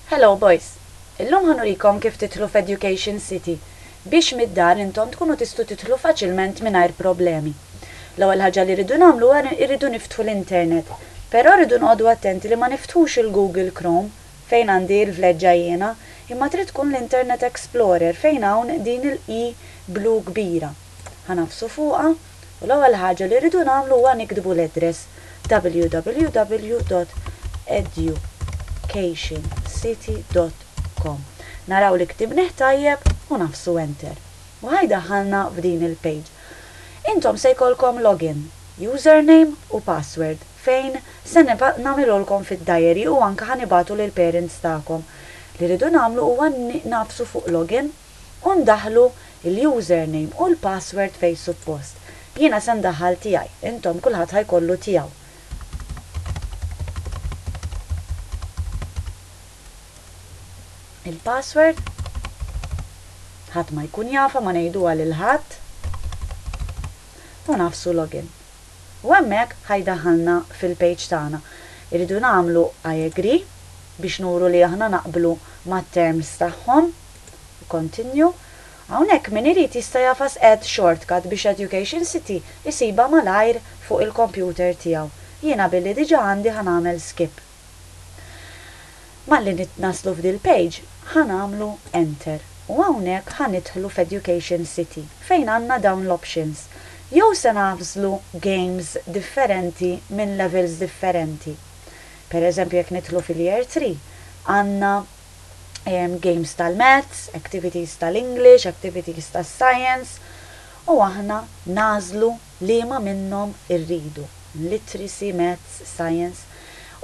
Hello boys! Illum ħa nurikom kif tidħlu f'Education City biex mid-dar intom tkunu tistgħu tidħlu faċilment mingħajr problemi. L-ewwel ħaġa li rridu nagħmlu huwa rridu niftħu l-internet. Però rridu noqogħdu attenti li ma niftħux il-Google Chrome fejn għandi l-vleġġa jiena, imma trid tkun l-Internet Explorer fejn hawn din il-i blu kbira. Ħa nagħfsu fuqha u l-ewwel ħaġa li rridu nagħmlu huwa niktbu l-address www.educationcity.com. Naraw li ktibnih tajjeb u nagħfsu enter. U ħa jdaħħalna f'din il-page. Intom se jkollkom login, username u password fejn se nagħmilhulkom fid-diary u anke ħa nibagħtu lill-parents tagħkom. Li rridu nagħmlu huwa nagħfsu fuq login u ndaħħlu l-username u l-password fejn suppost. Jiena se ndaħħal tiegħi, intom kulħadd ħa jkollu tiegħu. Il-password ħadd ma jkun jafha, ma ngħiduha lil ħadd u nagħfsu login. U hemmhekk ħa jdaħħalna fil-page tagħna. Irridu nagħmlu I agree biex nuru li aħna naqblu mat-terms tagħhom. Continue. Hawnhekk min irid jista' jagħfas add shortcut biex Education City isibha malajr fuq il-computer tiegħu. Jiena billi diġà għandi ħa nagħmel skip. Malli naslu f'dil-page ħa nagħmlu enter u hawnhekk ħa nidħlu f'Education City fejn għandna dawn l-options. Jew se nagħżlu games differenti minn levels differenti. Per eżempju jekk nidħlu fil-year 3 għandna games tal-maths, activities tal-English, activities tas-science u aħna nagħżlu liema minnhom irridu. Literacy, maths, science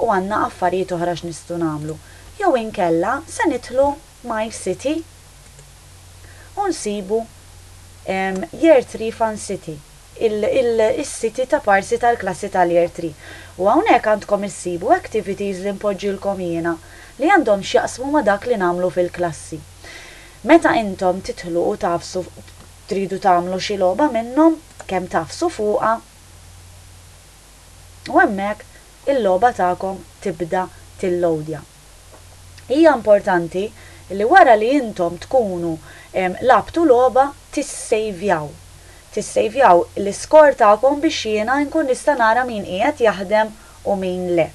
u għandna affarijiet oħra x'nistgħu nagħmlu. Jew inkella se nidħlu My City u nsibu Year 3 Fun City, is-city ta' parsi tal-klassi tal-Year 3. U hawnhekk għandkom issibu activities li npoġġilkom jiena li għandhom x'jaqsmu ma' dak li nagħmlu fil-klassi. Meta intom tidħlu u tagħfsu tridu tagħmlu xi logħba minnhom, kemm tagħfsu fuqha u hemmhekk il-logħba tagħkom tibda tillowdja. Hija importanti li wara li intom tkunu lgħabtu logħba tissejvjaw. Tissejvjaw l-iskor tagħkom biex jiena nkun nista' nara min qiegħed jaħdem u min le.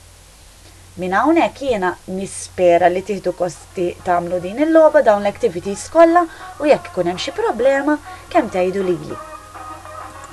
Minn hawnhekk jiena nispera li tieħdu gost tagħmlu din il-logħba, dawn l-activities kollha u jekk ikun hemm xi problema kemm tgħidu lili.